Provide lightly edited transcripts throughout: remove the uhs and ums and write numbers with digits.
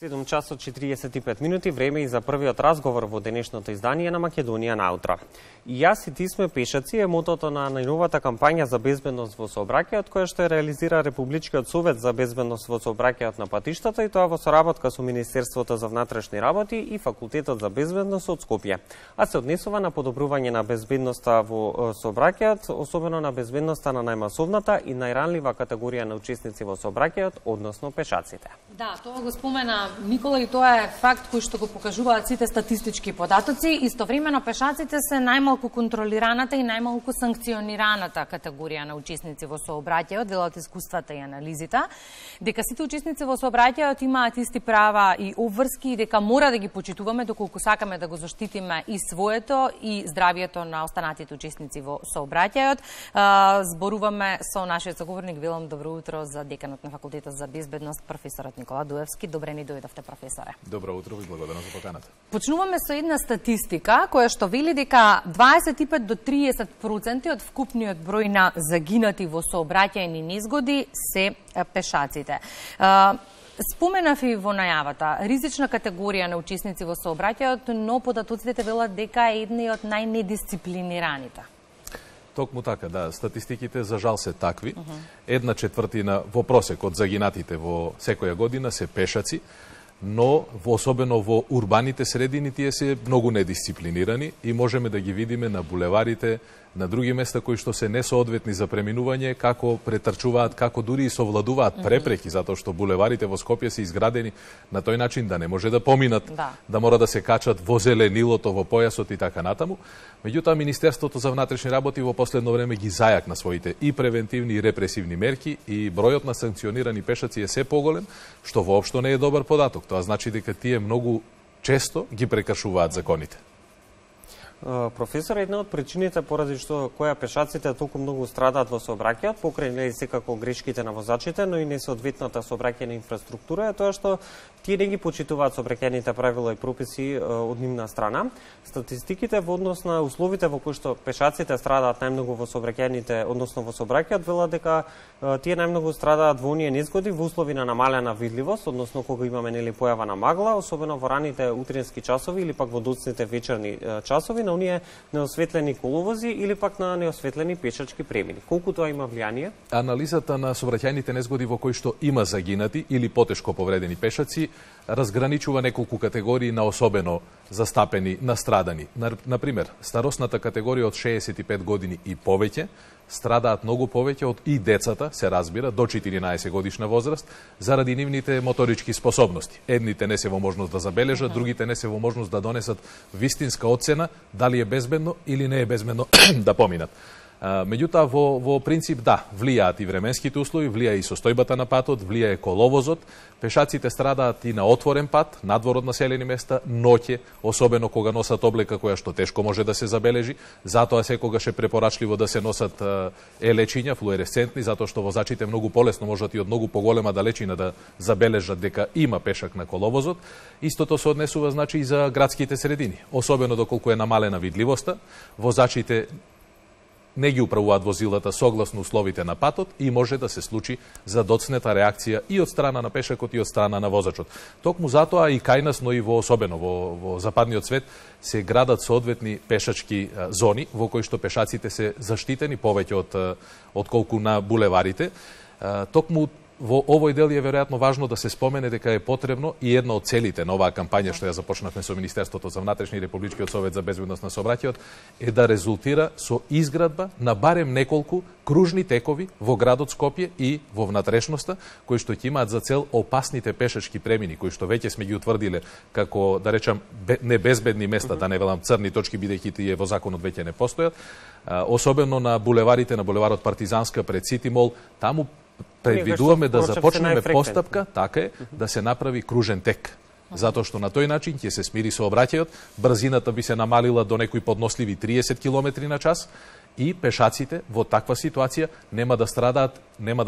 7 часот 45 минути, време и за првиот разговор во денешното издание на Македонија наутро. И јас и ти сме пешаци е мотото на најновата кампања за безбедност во сообраќајот, која што реализира Републичкиот совет за безбедност во сообраќајот на патиштата, и тоа во соработка со Министерството за внатрешни работи и Факултетот за безбедност од Скопје. А се однесува на подобрување на безбедноста во сообраќајот, особено на безбедноста на најмасовната и најранлива категорија на учесници во сообраќајот, односно пешаците. Да, тоа го спомена Никола и тоа е факт кој што го покажуваат сите статистички податоци. Истовремено пешаците се најмалку контролираната и најмалку санкционираната категорија на учесници во сообраќајот, велат искуствата и анализите, дека сите учесници во сообраќајот имаат исти права и обврски и дека мора да ги почитуваме доколку сакаме да го заштитиме и своето и здравието на останатите учесници во сообраќајот. Зборуваме со нашиот заговорник Велом. Добро утро за деканот на Факултетот за безбедност, професорот Никола Дуевски. Добре ни дојдовте, професоре. Добро утро и благодарам за поканата. Почнуваме со една статистика која што вели дека 25 до 30% од вкупниот број на загинати во сообраќајни незгоди се пешаците. Споменав и во најавата, ризична категорија на учесници во сообраќајот, но податоците велат дека е едни од најнедисциплинираните. Токму така, да, статистиките за жал се такви. 1/4 во просек од загинатите во секоја година се пешаци, но особено во урбаните средини тие се многу недисциплинирани и можеме да ги видиме на булеварите, на други места кои што се несоодветни за преминување, како претрчуваат, како дури и совладуваат препреки, затоа што булеварите во Скопје се изградени на тој начин да не може да поминат, да мора да се качат во зеленилото, во појасот и така натаму. Меѓутоа, Министерството за внатрешни работи во последно време ги зајакна своите и превентивни и репресивни мерки и бројот на санкционирани пешаци е се поголем, што воопшто не е добар податок. Тоа значи дека тие многу често ги прекршуваат законите. Професор, една од причините поради што која пешаците толку многу страдаат во сообраќајот, покрај нели секако грешките на возачите, но и несоодветната сообраќајна инфраструктура е тоа што тие не ги почитуваат сообраќајните правила и прописи од нивна страна. Статистиките во однос на условите во кои што пешаците страдаат најмногу во сообраќајните, односно во сообраќајот, велат дека тие најмногу страдаат во оние незгоди во услови на намалена видливост, односно кога имаме нели појава на магла, особено во раните утрински часови или пак во доцните вечерни часови, на оние неосветлени коловози или пак на неосветлени пешачки премини. Колку тоа има влијание? Анализата на сообраќајните незгоди во кои што има загинати или потешко повредени пешаци разграничува неколку категории на особено застапени, настрадани. Например, старосната категорија од 65 години и повеќе страдаат многу повеќе од и децата, се разбира, до 14 годишна возраст, заради нивните моторички способности. Едните не се во можност да забележат, другите не се во можност да донесат вистинска оцена дали е безбедно или не е безбедно да поминат. Меѓутоа, во принцип, да, влијаат и временските услови, влијае и состојбата на патот, влијае коловозот, пешаците страдаат и на отворен пат, надвор од населени места, ноќе, особено кога носат облека која што тешко може да се забележи, затоа секогаш е препорачливо да се носат лечиња, флуоресцентни, затоа што возачите многу полесно можат и од многу поголема далечина да забележат дека има пешак на коловозот. Истото се однесува, значи, и за градските средини, особено доколку е намалена видливоста, возачите не ги управуваат возилата согласно условите на патот и може да се случи задоцнета реакција и од страна на пешакот и од страна на возачот. Токму затоа и кај нас, но и особено во западниот свет се градат соодветни пешачки зони во кои што пешаците се заштитени повеќе од колку на булеварите. Токму во овој дел е веројатно важно да се спомене дека е потребно и една од целите на оваа кампања што ја започнавме со Министерството за внатрешни и Републичкиот совет за безбедност на сообраќајот е да резултира со изградба на барем неколку кружни текови во градот Скопје и во внатрешноста, кои што ќе имаат за цел опасните пешачки премини, кои што веќе сме ги утврдиле како, да речам, небезбедни места, да не велам црни точки, бидејќи тие во законот веќе не постојат, особено на булеварите, на булеварот Партизанска пред Сити Мол, таму предвидуваме да започнеме постапка, така е, да се направи кружен тек. Затоа што на тој начин ќе се смири сообраќајот, брзината би се намалила до некои подносливи 30 км на час и пешаците во таква ситуација нема да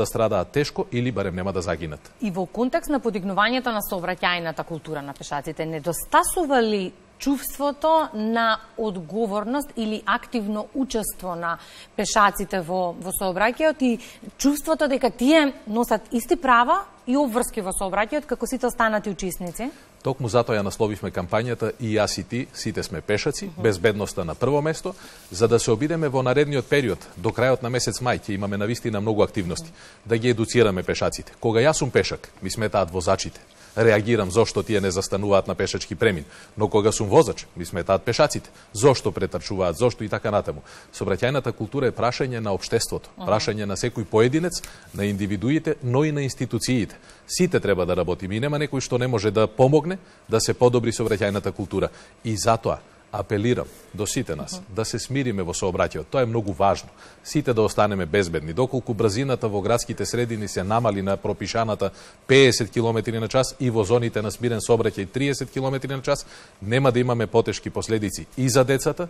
страдаат тешко или барем нема да загинат. И во контекст на подигнувањето на сообраќајната култура на пешаците, недостасува ли чувството на одговорност или активно учество на пешаците во сообраќајот и чувството дека тие носат исти права и обврски во сообраќајот како сите останати учесници? Токму затоа ја насловивме кампањата и јас и ти, сите сме пешаци, безбедноста на прво место, за да се обидеме во наредниот период, до крајот на месец мај, ќе имаме навистина многу активности, да ги едуцираме пешаците. Кога јас сум пешак, ми сметаат возачите. Реагирам зошто тие не застануваат на пешачки премин, но кога сум возач, ми сметаат пешаците. Зошто претрчуваат, зошто и така натаму. Сообраќајната култура е прашање на општеството, прашање на секој поединец, на индивидуите, но и на институциите. Сите треба да работиме и нема некој што не може да помогне да се подобри сообраќајната култура. И затоа апелирам до сите нас да се смириме во сообраќајот. Тоа е многу важно. Сите да останеме безбедни. Доколку брзината во градските средини се намали на пропишаната 50 км на час и во зоните на смирен сообраќај 30 км на час, нема да имаме потешки последици и за децата,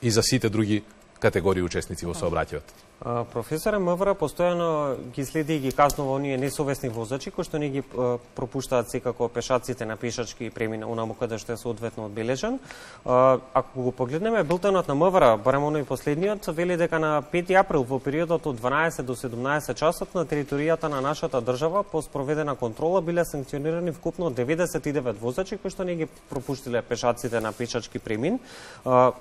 и за сите други категории учесници во сообраќајот. Професоре, МВР постојано ги следи и ги казнува оние несовесни возачи кои што не ги пропуштаат секако пешаците на пешачки премина онаму каде што е соодветно одбележен. Ако го погледнеме билтенот на МВР, барем оној последниот, вели дека на 5 април во периодот од 12 до 17 часот на територијата на нашата држава по спроведена контрола биле санкционирани вкупно 99 возачи кои што не ги пропуштиле пешаците на пешачки премин.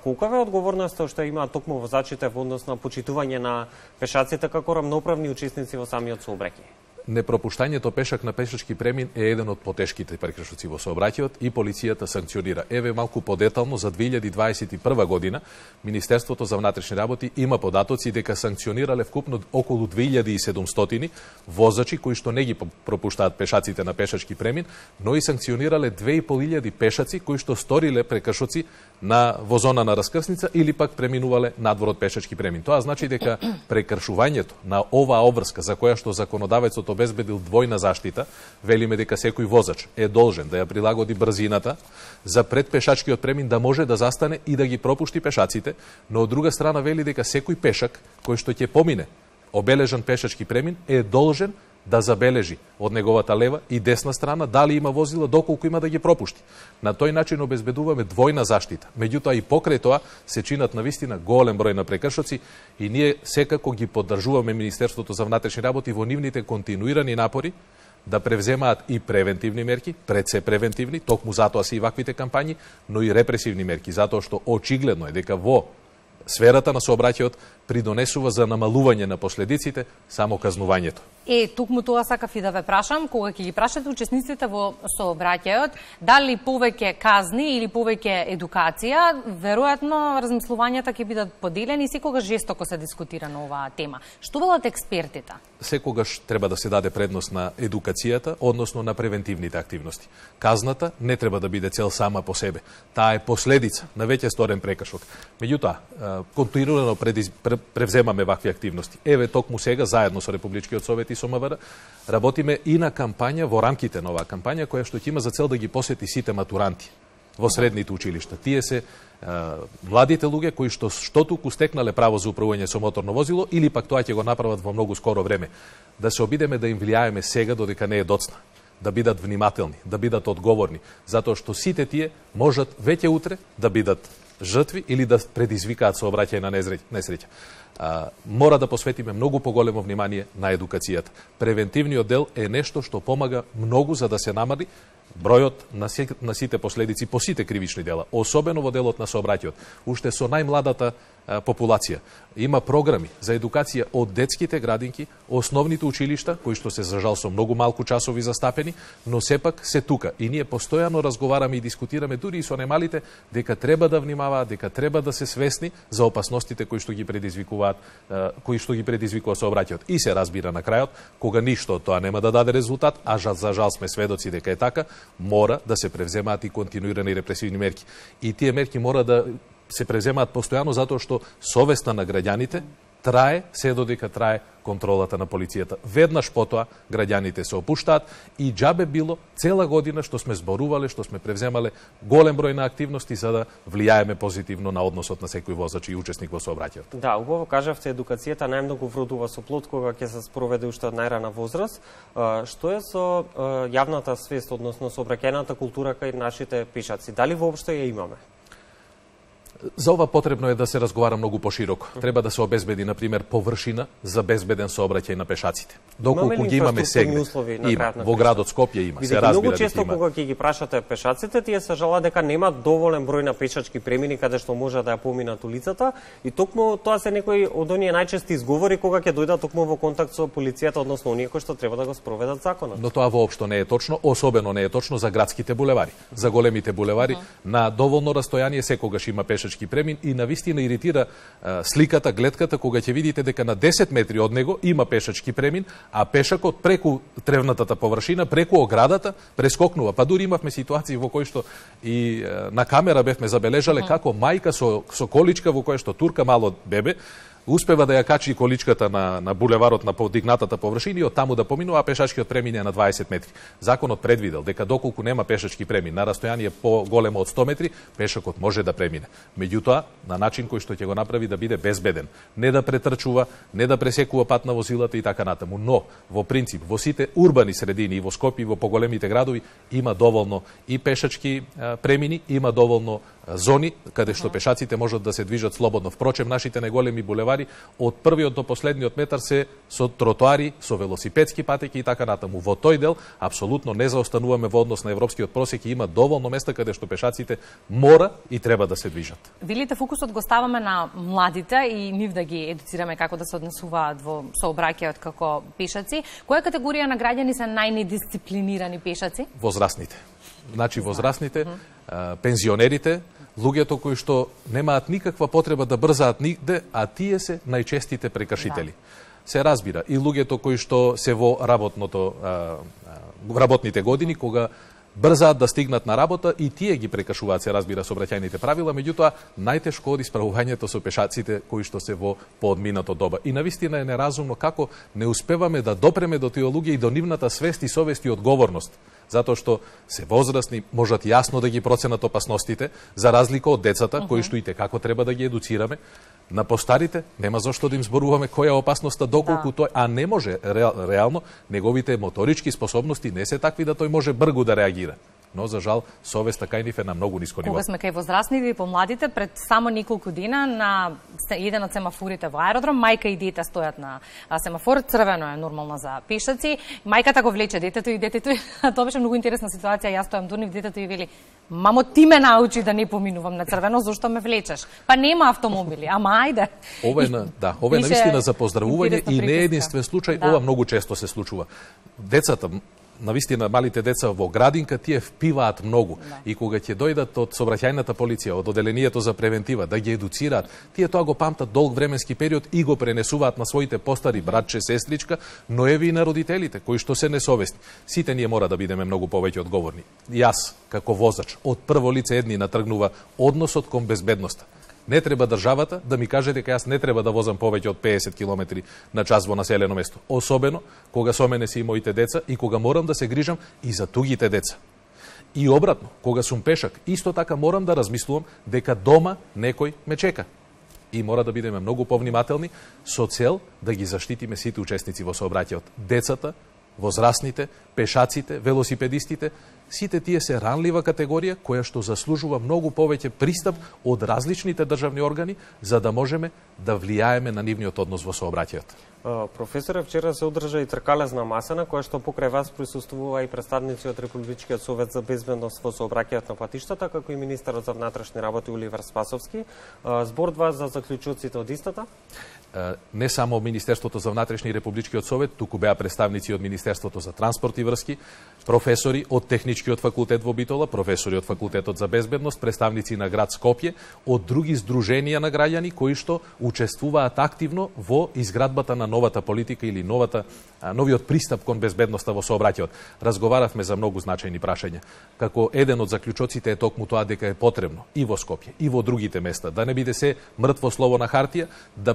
Колкава е одговорноста што имаат токму возачите во однос на почитување на пешаците како рамноправни учесници во самиот сообраќај? Непропуштањето пешак на пешачки премин е еден од потешките прекршоци во сообраќајот и полицијата санкционира. Еве малку подетално за 2021 година Министерството за внатрешни работи има податоци дека санкционирале вкупно околу 2700 возачи кои што не ги пропуштаат пешаците на пешачки премин, но и санкционирале 2500 пешаци кои што сториле прекршоци во зона на раскрсница или пак преминувале надвор од пешачки премин. Тоа значи дека прекршувањето на оваа обврска за која што законодавецот обезбедил двојна заштита, велиме дека секој возач е должен да ја прилагоди брзината за пред пешачкиот премин да може да застане и да ги пропушти пешаците, но од друга страна вели дека секој пешак кој што ќе помине обележан пешачки премин е должен да забележи од неговата лева и десна страна дали има возила, доколку има да ги пропушти. На тој начин обезбедуваме двојна заштита. Меѓутоа и покрај тоа се чинат навистина голем број на прекршоци и ние секако ги поддржуваме Министерството за внатрешни работи во нивните континуирани напори да превземаат и превентивни мерки, пред се превентивни, токму затоа се и ваквите кампањи, но и репресивни мерки, затоа што очигледно е дека во сферата на сообраќајот придонесува за намалување на последиците само казнувањето. Токму тоа сакав и да ве прашам, кога ќе ги прашате учесниците во сообраќајот, дали повеќе казни или повеќе едукација, веројатно размислувањата ќе бидат поделени и секогаш жестоко се дискутира на оваа тема. Што велат експертите? Секогаш треба да се даде предност на едукацијата, односно на превентивните активности. Казната не треба да биде цел сама по себе. Таа е последица на веќе сторен прекршок. Меѓутоа, континуирано превземаме вакви активности. Еве токму сега заедно со Републичкиот совет и со МВР работиме и на кампања во рамките на оваа кампања која што ќе има за цел да ги посети сите матуранти во средните училишта. Тие се младите луѓе кои што туку стекнале право за управување со моторно возило или пак тоа ќе го направат во многу скоро време. Да се обидеме да им влијаеме сега додека не е доцна. Да бидат внимателни, да бидат одговорни, затоа што сите тие можат веќе утре да бидат жртви или да предизвикаат сообраќајна несреќа. Мора да посветиме многу поголемо внимание на едукацијата. Превентивниот дел е нешто што помага многу за да се намали бројот на сите последици по сите кривични дела, особено во делот на сообраќајот. Уште со најмладата популација има програми за едукација од детските градинки, основните училишта, кои што се за жал со многу малку часови застапени, но сепак се тука. И ние постојано разговараме и дискутираме дури и со немалите дека треба да внимаваат, дека треба да се свесни за опасностите кои што ги предизвикуваат, сообраќајот. И се разбира на крајот, кога ништо од тоа нема да даде резултат, а за жал сме сведоци дека е така, мора да се превземаат и континуирани репресивни мерки. И тие мерки мора да се превземаат постојано затоа што совеста на граѓаните трае се додека трае контролата на полицијата. Веднаш потоа граѓаните се опуштаат и џабе било цела година што сме зборувале, што сме превземале голем број на активности за да влијаеме позитивно на односот на секој возач и учесник во сообраќајот. Да, убаво кажавте, едукацијата најмногу вродува со плод кога ќе се спроведе уште од најрана возраст. Што е со јавната свест, односно сообраќајната култура кај нашите пешаци? Дали воопшто ја имаме? За ова потребно е да се разговара многу пошироко. Треба да се обезбеди, на пример, површина за безбеден сообраќај на пешаците. Доколку ги имаме сега, има во градот Скопје има, се разбира. Многу често кога ќе ги прашате пешаците, тие се жалат дека нема доволен број на пешачки премини каде што може да ја поминат улицата и токму тоа се некои од оние најчести изговори кога ќе дојдат токму во контакт со полицијата, односно оние кои што треба да го спроведат законот. Но тоа воопшто не е точно, особено не е точно за градските булевари. За големите булевари на доволно растојание секогаш има пешачки премин и навистина иритира сликата, гледката кога ќе видите дека на 10 метри од него има пешачки премин, а пешакот преку тревнатата површина, преку оградата прескокнува. Па дури имавме ситуации во кои што и на камера бевме забележале како мајка со количка во која што турка мало бебе успева да ја качи количката на булеварот на подигнатата површина и од таму да поминува, а пешачкиот премин е на 20 метри. Законот предвидел дека доколку нема пешачки премин на растојание поголемо од 100 метри, пешакот може да премине. Меѓутоа, на начин кој што ќе го направи да биде безбеден, не да претрчува, не да пресекува пат на возилата и така натаму. Но, во принцип, во сите урбани средини и во Скопје и во поголемите градови има доволно и пешачки премини, има доволно зони каде што пешаците можат да се движат слободно. Впрочем, нашите најголеми булевари од првиот до последниот метар се со тротоари, со велосипедски патеки и така натаму. Во тој дел апсолутно не заостануваме во однос на европскиот просек и има доволно места каде што пешаците мора и треба да се движат. Велите фокусот го ставаме на младите и нив да ги едуцираме како да се однесуваат во сообраќајот како пешаци. Која категорија на граѓани се најнедисциплинирани пешаци? Возрастните. Значи возрастните, пензионерите, луѓето кои што немаат никаква потреба да брзаат нигде, а тие се најчестите прекршители. Се разбира, и луѓето кои што се во работните години, кога брзаат да стигнат на работа и тие ги прекршуваат, се разбира, сообраќајните правила, меѓутоа најтешко оди справувањето со пешаците кои што се во поодминато доба. И навистина е неразумно како не успеваме да допреме до тие луѓе и до нивната свест и совест и одговорност, затоа што се возрастни, можат јасно да ги проценат опасностите, за разлика од децата, кои што и како треба да ги едуцираме. На постарите нема зошто да им зборуваме која е опасноста, доколку тој, а не може реално, неговите моторички способности не се такви да тој може бргу да реагира. Но, за жал, совеста кај нив е на многу ниско ниво. Кога сме кај возрастните и помладите, пред само неколку дена на еден од семафорите во аеродром, мајка и дете стојат на семафор, црвено е нормално за пешаци, мајката го влече детето и детето, тоа беше многу интересна ситуација, јас стојам до нив, детето и вели: "Мамо, ти ме научи да не поминувам на црвено, зошто ме влечеш? Па нема автомобили, ама ајде." Ова е навистина за поздравување и не е единствен случај, ова многу често се случува. Децата, навистина малите деца во градинка, тие впиваат многу. И кога ќе дојдат од сообраќајната полиција, од оделението за превентива, да ги едуцираат, тие тоа го памтат долг временски период и го пренесуваат на своите постари братче, сестричка, но еви и на родителите, кои што се несовесни. Сите ние мора да бидеме многу повеќе одговорни. Јас, како возач, од прво лице едни натргнува односот кон безбедноста. Не треба државата да ми каже дека јас не треба да возам повеќе од 50 км на час во населено место. Особено кога со мене се и моите деца и кога морам да се грижам и за тугите деца. И обратно, кога сум пешак, исто така морам да размислувам дека дома некој ме чека. И мора да бидеме многу повнимателни со цел да ги заштитиме сите учесници во сообраќајот. Децата, возрастните, пешаците, велосипедистите, сите тие се ранлива категорија која што заслужува многу повеќе пристап од различните државни органи за да можеме да влијаеме на нивниот однос во сообраќајот. Професоре, вчера се одржа и тркалезна маса на која што покрај вас присуствува и представници од Републичкиот совет за безбедност во сообраќајот на патиштата, како и министерот за внатрешни работи Оливер Спасовски. Зборува за заклучоците од истата? Не само Министерството за внатрешни и Републичкиот совет, туку беа представници од Министерството за транспорт и врски, професори од Техничкиот факултет во Битола, професори од Факултетот за безбедност, представници на град Скопје, од други здруженија на граѓани кои што учествуваат активно во изградбата на новата политика или новиот пристап кон безбедноста во сообраќајот. Разговаравме за многу значајни прашања. Како еден од заклучоците е токму тоа дека е потребно и во Скопје, и во другите места, да не биде се мртво слово на хартија, да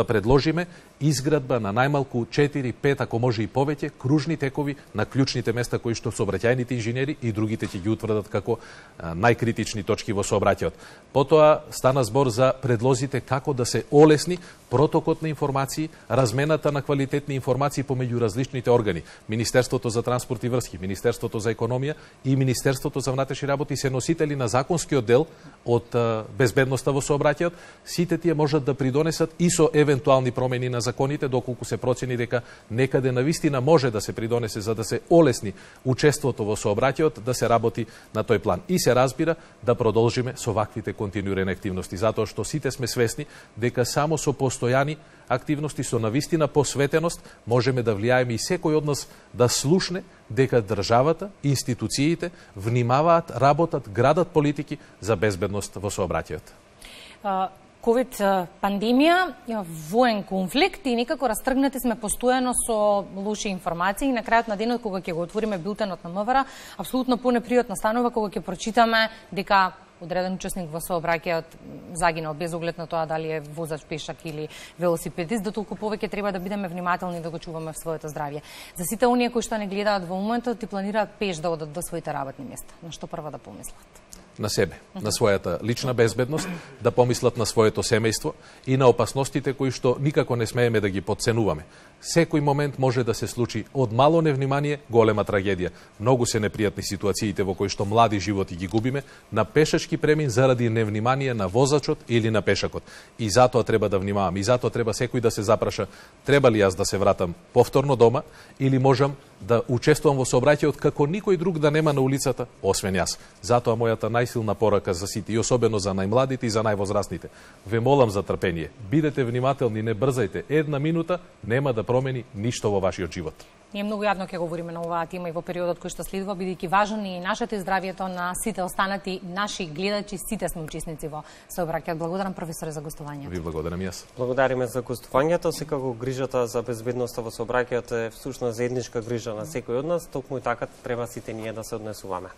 предложиме изградба на најмалку 4-5, ако може и повеќе, кружни текови на клучните места кои што сообраќајните инженери и другите ќе ги утврдат како најкритични точки во сообраќајот. Потоа стана збор за предлозите како да се олесни протокот на информации, размената на квалитетни информации помеѓу различните органи. Министерството за транспорт и врски, Министерството за економија и Министерството за внатрешни работи се носители на законскиот дел од безбедноста во сообраќајот. Сите тие можат да придонесат и со евентуални промени на законите, доколку се процени дека некаде навистина може да се придонесе за да се олесни учеството во сообраќајот, да се работи на тој план. И се разбира да продолжиме со ваквите континуирани активности, затоа што сите сме свесни дека само со постојани активности, со навистина посветеност, можеме да влијаеме и секој од нас да слушне дека државата, институциите внимаваат, работат, градат политики за безбедност во сообраќајот. Ковид пандемија, воен конфликт и некако растргнати сме постојано со лоши информации и на крајот на денот кога ќе го отвориме билтенот на МВР, апсолутно понепријатно станува кога ќе прочитаме дека одреден учесник во сообраќајот загинал без оглед на тоа дали е возач, пешак или велосипедист, да толку повеќе треба да бидеме внимателни да го чуваме в своето здравје. За сите оние кои што не гледаат во моментот и планираат пеш да одат до своите работни места, на што прво да помислат? На себе, на својата лична безбедност, да помислат на своето семејство и на опасностите кои што никако не смееме да ги подценуваме. Секој момент може да се случи од мало невнимание голема трагедија. Многу се непријатни ситуациите во кои што млади животи ги губиме на пешачки премин заради невнимание на возачот или на пешакот. И затоа треба да внимаваме, и затоа треба секој да се запраша треба ли јас да се вратам повторно дома или можам да учествувам во сообраќајот како никој друг да нема на улицата, освен јас. Затоа мојата најсилна порака за сите и особено за најмладите и за највозрастните. Ве молам за трпение. Бидете внимателни, не брзајте. Една минута нема да промени ништо во вашиот живот. Ние многу јавно ќе говориме на оваа тема и во периодот кој што следува, бидејќи важно и нашето здравјето на сите останати наши гледачи, сите сме учесници во сообраќајот. Благодарам професоре за гостувањето. Ви благодарам јас. Благодариме за гостувањето. Секако грижата за безбедноста во сообраќајот е всушност заедничка грижа на секој од нас, токму и така треба сите ние да се однесуваме.